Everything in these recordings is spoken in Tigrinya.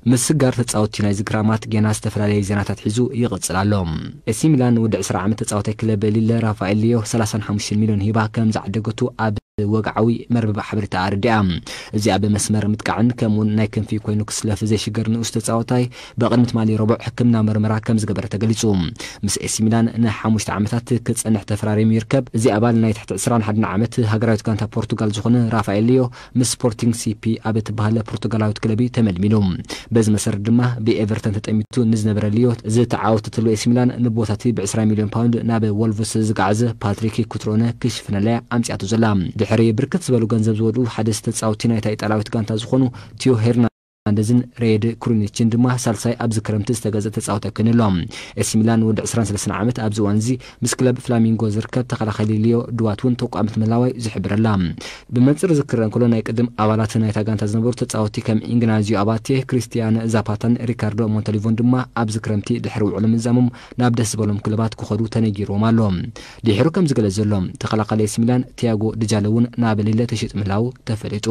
ምስጋር ተጻወትቲ ናይዚ ክራማት ጌና ዝተፈላለየ ዜናታት ሒዙ ይቕጽል ኣሎ። ኤሲ ሚላን ወዲ ዕስራ ዓመት ተጻዋታይ ክለብ ሊለ ራፋኤል ሊዮ ሰላሳን ሓሙሽተን ሚልዮን ሂባ ከም ዝዓደገቱ ኣብ ወግዓዊ መርበብ ሓበሬታ ኣረዲኣ። እዚ ኣብ መስመር ምጥቃዕን ከምኡውን ናይ ክንፊ ኮይኑ ክስለፍ ዘይሽገር ንኡስ ተጻዋታይ ብቕድሚ ትማሊ ረቡዕ ሕክምና መርመራ ከም ዝገበረ ተገሊጹ። ምስ ኤሲ ሚላን ንሓሙሽተ ዓመታት ክጸንሕ ተፈራሪሙ ይርከብ። እዚ ኣባል ናይ ትሕቲ ዕስራን ሓደን ዓመት ሃገራዊት ጋንታ ፖርቱጋል ዝኾነ ራፋኤል ሊዮ ምስ ስፖርቲንግ ሲፒ ኣብ እትበሃል ፖርቱጋላዊት ክለብ እዩ ተመልሚሉ። በዚ መሰረት ድማ ብኤቨርተን ተጠሚቱ ንዝነበረ ሊዮ ዝተዓወተትሉ ኤሲ ሚላን ንቦታቲ ብ20 ሚልዮን ፓውንድ ናብ ወልቭስ ዝገዓዘ ፓትሪክ ኩትሮነ ክሽፍነለያ ኣምጺኣቱ ዘላ። ድሕሪ ብርክት ዝበሉ ገንዘብ ዝወድኡ ሓደ ተጻወቲ ናይታ ኢጣልያዊት ጋንታ ዝኾኑ ቲዮ ሄርናንደዝን ሬድ ክሩኒችን ድማ ሳልሳይ ኣብዚ ክረምቲ ዝተገዘ ተጻወቲ ኣይኮነን ኣሎ። ኤሲ ሚላን ወዲ ዕስራን ሰለስተን ዓመት ኣብዚ እዋን እዚ ምስ ክለብ ፍላሚንጎ ዝርከብ ተኸላኻሊ ሊዮ ድዋት እውን ተቋምት ምህላዋይ ዝሕብረላ። ብመንጽር ዝክረ እንከሎ ናይ ቅድም ኣባላት ናይታ ጋንታ ዝነበሩ ተጻወቲ ከም ኢግናዚዮ ኣባቴ፣ ክሪስቲያን ዛፓታን ሪካርዶ ሞንተሊቮን ድማ ኣብዚ ክረምቲ ድሕሪ ውዕሎ ምዛሞም ናብ ደስ ዝበሎም ክለባት ክኸዱ ተነጊርዎም ኣሎ። ድሕሩ ከም ዝገለጽ ዘሎ ተኸላኻሊ ኤሲ ሚላን ቲያጎ ድጃለ እውን ናብ ሊለ ተሸይጡ ምህላው ተፈሊጡ።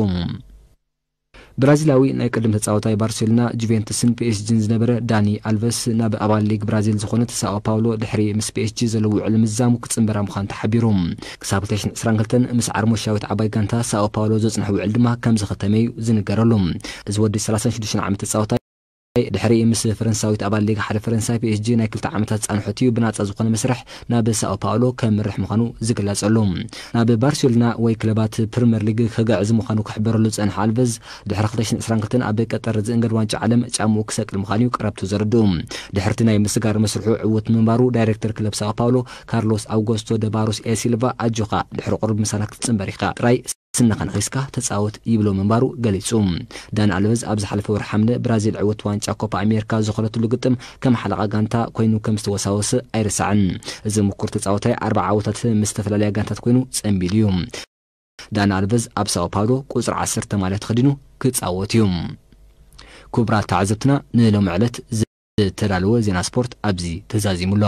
ብራዚላዊ ናይ ቅድም ተጻዋታይ ባርሴሎና፣ ጁቬንቱስን ፒኤስጂን ዝነበረ ዳኒ ኣልቨስ ናብ ኣባል ሊግ ብራዚል ዝኾነት ሳኦ ፓውሎ ድሕሪ ምስ ፒኤስጂ ዘለዎ ውዕል ምዛሙ ክጽንበራ ምዃኑ ተሓቢሩ። ክሳብ ክልተ ሽሕን ዕስራን ክልተን ምስ ዓርሞሻዊት ዓባይ ጋንታ ሳኦ ፓውሎ ዘጽንሖ ውዕል ድማ ከም ዝኸተመ እዩ ዝንገረሉ። እዚ ወዲ ሰላሳን ሽዱሽተን ዓመት ተጻዋታይ ድሕሪ ምስ ፈረንሳዊት ኣባል ሊግ ሓደ ፈረንሳይ ፒኤስጂ ናይ ክልተ ዓመታት ጻንሖት እዩ ብናጻ ዝኾነ መስርሕ ናብ ሳኦ ፓውሎ ከምርሕ ምዃኑ ዝግለጸሉ። ናብ ባርሴሎና ወይ ክለባት ፕሪምየር ሊግ ክግዕዝ ምዃኑ ክሕበረሉ ዝጸንሐ ኣልቨዝ፣ ድሕሪ ክልተ ሽሕን ዕስራን ክልተን ኣብ ቀጠር ዝእንገድ ዋንጫ ዓለም ጫምኡ ክሰቅል ምዃኑ እዩ ቀረብቱ ዘረድኡ። ድሕርቲ ናይ ምስጋር መስርሑ ዕውት ምንባሩ ዳይሬክተር ክለብ ሳኦ ፓውሎ ካርሎስ ኣውጎስቶ ደ ባሮስ ኤ ሲልቫ ኣጆኻ ድሕሪ ቁሩብ ምሳና ክትጽንበር ኢኻ ጥራይ ስንኻ ነኺስካ ተጻወት ይብሎ ምንባሩ ገሊጹ። ዳኒ ኣልቨዝ ኣብ ዝሓለፈ ወርሒ ሓምለ ብራዚል ዕውት ዋንጫ ኮፓ ኣሜሪካ ዝኾነትሉ ግጥም ከም ሓለቓ ጋንታ ኮይኑ ከም ዝተወሳወሰ ኣይርሳዕን። እዚ ምኩር ተጻወታይ ኣርባዓ ዓወታት ምስ ዝተፈላለያ ጋንታት ኮይኑ ጸንቢሉ እዩ። ዳኒ ኣልቨዝ ኣብ ሳኦ ፓውሎ ቁጽሪ ዓሰርተ ማልያ ተኸዲኑ ክጻወት እዩ። ክቡራት ተዓዘብትና፣ ንሎሚ ዕለት ዝተዳለወ ዜና ስፖርት ኣብዚ ተዛዚሙ ኣሎ።